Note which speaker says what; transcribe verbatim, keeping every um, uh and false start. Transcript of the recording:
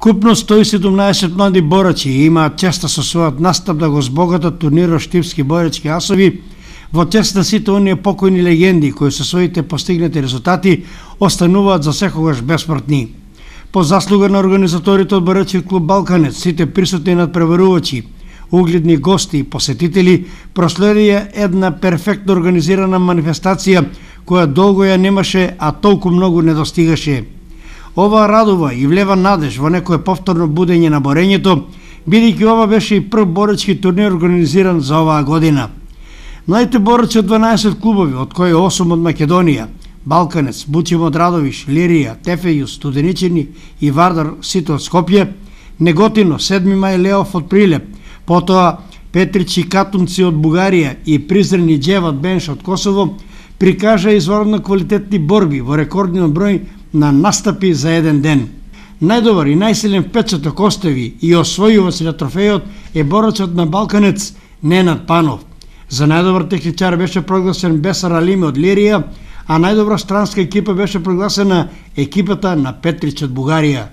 Speaker 1: Вкупно сто и седумнаесет млади борачи имаат честа со својот настап да го збогатат турнирот Штипски боречки асови во чест на сите оние покојни легенди кои со своите постигнати резултати остануваат за секогаш бесмртни. По заслуга на организаторите од боречки клуб Балканец, сите присутни надпреварувачи, угледни гости и посетители проследија една перфектно организирана манифестација која долго ја немаше, а толку многу не достигаше. Ова радува и влева надеж во некое повторно будење на борењето, бидејќи ова беше и прв боречки турнир организиран за оваа година. Младите борачи од дванаесет клубови, од кои осум од Македонија, Балканец, Бучим од Радовиш, Лирија, Тефејус, Студеничани и Вардар, сите од Скопје, Неготино, седми мај Леов од Прилеп, потоа Петрич и Катунци од Бугарија и Призрен и Џеват Бенш од Косово, прикажа изварно квалитетни борби во рекордниот број на настапи за еден ден. Најдобар и најсилен впечаток остави и освојува на трофејот е борачот на Балканец Ненад Панов. За најдобар техничар беше прогласен Бесар Алиме од Лирија, а најдобра странска екипа беше прогласена екипата на Петрич од Бугарија.